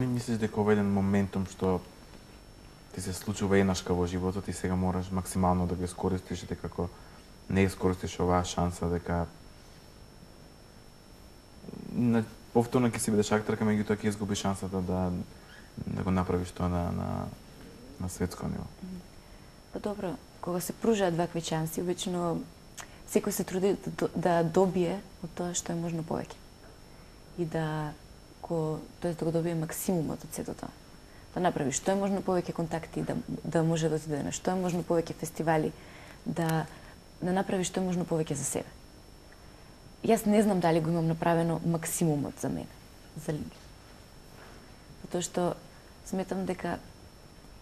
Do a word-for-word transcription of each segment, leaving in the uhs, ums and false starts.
Мислиш дека ова е еден моментум што ти се случува еднашка во животот и сега мораш максимално да го искористиш и дека како не искористиш оваа шанса дека на повторно ќе си бидеш актерка, меѓутоа ќе изгубиш шансата да да го направиш тоа на на на светско ниво. Па добро, кога се пружаат вакви шанси, обично секој се труди да, да добие од тоа што е можно повеќе. И да ко тоест да го добие максимумот од сето тоа. Да направи што е можно повеќе контакти, да да може да отиде на што е можно повеќе фестивали, да да направи што е можно повеќе за себе. Јас не знам дали го имам направено максимумот за мене, за лиѓе. Затоа што сметам дека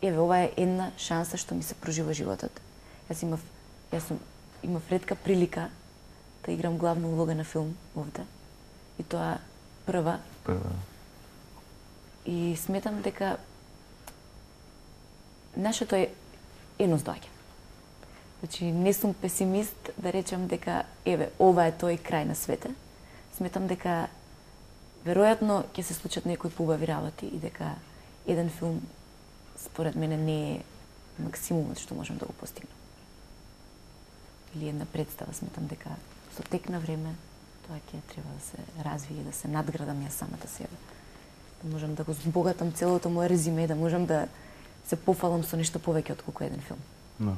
еве ова е една шанса што ми се пружи во животот. Јас имав јас сум имав ретка прилика да играм главна улога на филм овде. И тоа прва. Прва. И сметам дека нашето е едност доаѓа. Значи, не сум песимист да речам дека, еве, ова е тој крај на свете. Сметам дека, веројатно, ќе се случат некои поубави работи и дека еден филм, според мене, не е максимумот што можам да го постигнам. Или една представа, сметам дека со тек на време тоа ќе треба да се развие, да се надградам јас самата себе. Да можам да го збогатам целото моје резиме, да можам да се пофалам со нешто повеќе од колку еден филм. No.